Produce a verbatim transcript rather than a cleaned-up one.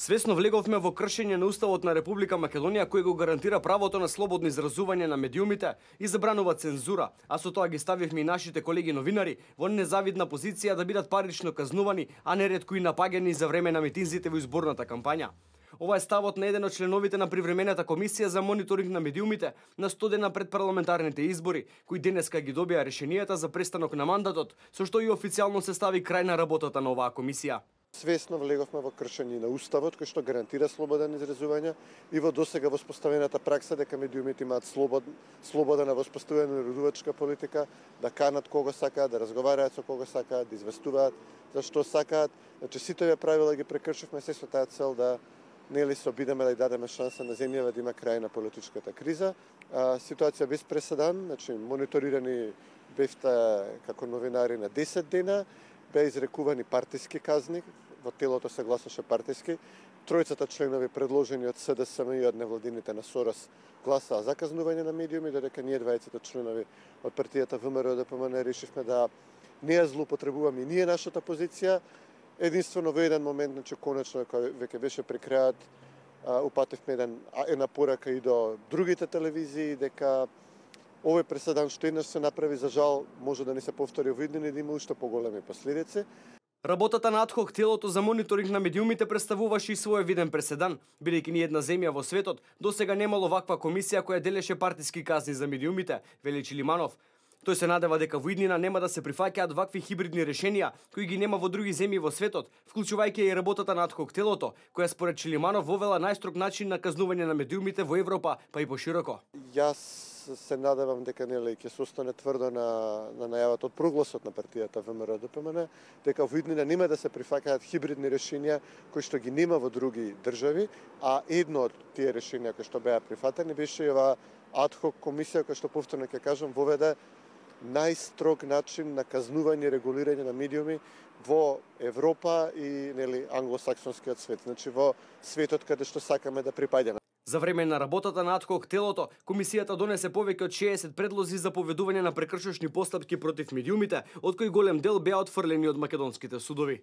Свесно влеговме во кршење на Уставот на Република Македонија, кој го гарантира правото на слободно изразување на медиумите и забранува цензура, а со тоа ги ставивме и нашите колеги новинари во незавидна позиција да бидат парично казнувани, а неретко и напаѓани за време на митинзите во изборната кампања. Ова е ставот на еден од членовите на привремената комисија за мониторинг на медиумите на сто дена пред парламентарните избори, кои денеска ги добија решенијата за престанок на мандатот, со што и официјално се стави крај на работата на оваа комисија. Свесно влеговме во кршење на Уставот, кој што гарантира слобода на изразување и во досега воспоставената пракса дека медиумите имаат слобод, слобода на воспоставување на редувачка политика, да канат кого сакаат, да разговараат со кого сакаат, да известуваат за што сакаат. Значи сите овие правила ги прекршивме се со таа цел да нели се обидеме да ја дадеме шанса на земјава да има крај на политичката криза. А, ситуација без преседан, значи мониторирани бевте како новинари на десет дена, беа изрекувани партиски казни, во телото се гласаше партиски. Тројцата членови предложени од СДСМ и од невладините на Сорос гласаа за казнување на медиуми, додека ние двајцата членови од партијата ВМРО ДПМН решивме да не ја злоупотребуваме и ние нашата позиција. Единствено во еден момент, значи конечно кога веќе беше при крајот, упативме еден една порака и до другите телевизии дека овој преседан што еднаш се направи, за жал, може да не се повтори во иднини и да има уште поголеми последици. Работата на адхок телото за мониторинг на медиумите представуваше и свој виден преседан, бидејќи ни една земја во светот досега немало ваква комисија која делеше партиски казни за медиумите, вели Чилиманов. Тој се надева дека во иднина нема да се прифаќаат вакви хибридни решенија кои ги нема во други земји во светот, вклучувајќи и работата на адхок телото, која според Чилиманов вовела најстрог начин на казнување на медиумите во Европа, па и пошироко. Јас се надевам дека нели ќе се остане тврдо на на најавата од прогласот на партијата ВМРО ДПМН, дека во иднина нема да се прифаќаат хибридни решенија кои што ги нема во други држави, а едно од тие решенија кои што беа прифатени беше и оваа адхок комисија која што повторно ќе кажам воведе најстрог начин на казнување и регулирање на медиуми во Европа и нели англосаксонскиот свет, значи во светот каде што сакаме да припаѓаме. За време на работата на адхок телото, комисијата донесе повеќе од шеесет предлози за поведување на прекршочни постапки против медиумите, од кои голем дел беа отфрлени од македонските судови.